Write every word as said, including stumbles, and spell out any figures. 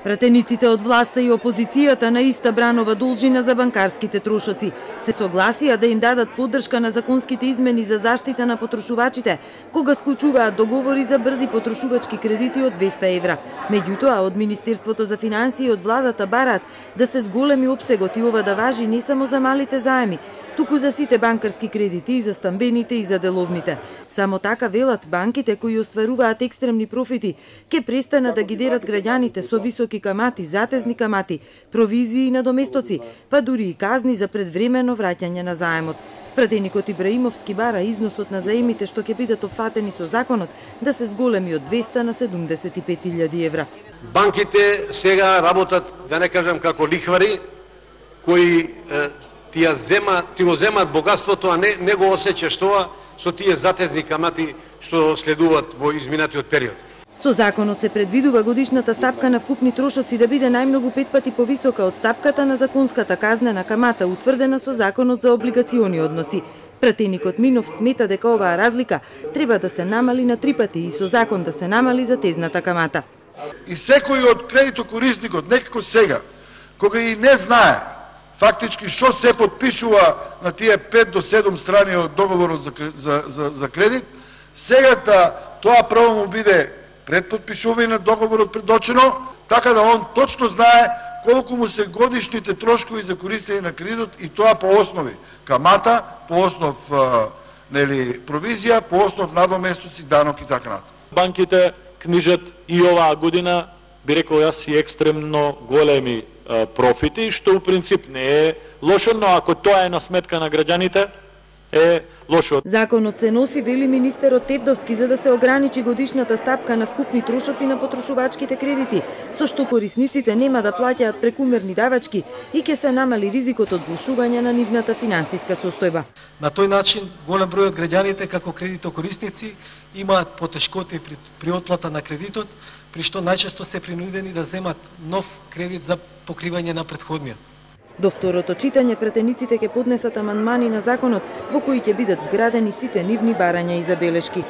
Пратениците од власта и опозицијата на иста бранова должина за банкарските трошоци се согласија да им дадат поддршка на законските измени за заштита на потрошувачите, кога склучуваат договори за брзи потрошувачки кредити од двеста евра. Меѓутоа, од Министерството за финансии и од владата бараат да се зголеми опсегот и ова да важи не само за малите заеми, туку за сите банкарски кредити, и за стамбените и за деловните. Само така велат, банките кои остваруваат екстремни профити ќе престанат да ги дерат граѓаните со високи камати, затезни камати, провизии и надоместоци, па дури и казни за предвремено враќање на заемот. Пратеникот Ибраимовски бара износот на заемите што ќе бидат опфатени со законот да се зголеми од двеста на седумдесет и пет илјади евра. Банките сега работат, да не кажам како лихвари, кои е, тие зема, ти го земат богатството, а не, не го осеќаш тоа со тие затезни камати што следуваат во изминатиот период. Со законот се предвидува годишната стапка на вкупни трошоци да биде најмногу пет пати повисока од стапката на законската казнена камата, утврдена со законот за облигациони односи. Пратеникот Минов смета дека оваа разлика треба да се намали на три пати и со закон да се намали за тезната камата. И секој од кредитокорисникот некако сега, кога и не знае фактички што се подпишува на тие пет до седум страни од договорот за, за, за, за кредит, сегата тоа право му биде пред подпишување на договорот предочено, така да он точно знае колку му се годишните трошкови за користење на кредитот, и тоа по основи камата, по основ а, нели провизија, по основ надоместоци, данок и така натаму. Банките книжат и оваа година, би рекол јас, и екстремно големи а, профити, што у принцип не е лошо, но ако тоа е на сметка на граѓаните, е лошо. Законот се носи, вели министерот Тевдовски, за да се ограничи годишната стапка на вкупни трошоци на потрошувачките кредити, со што корисниците нема да плаќаат прекумерни давачки и ќе се намали ризикот од влошување на нивната финансиска состојба. На тој начин голем број од граѓаните како кредитокорисници имаат потешкоти при, при отплата на кредитот, при што најчесто се принудени да земат нов кредит за покривање на претходниот. До второто читање пратениците ќе поднесат амандмани на законот во кои ќе бидат вградени сите нивни барања и забелешки.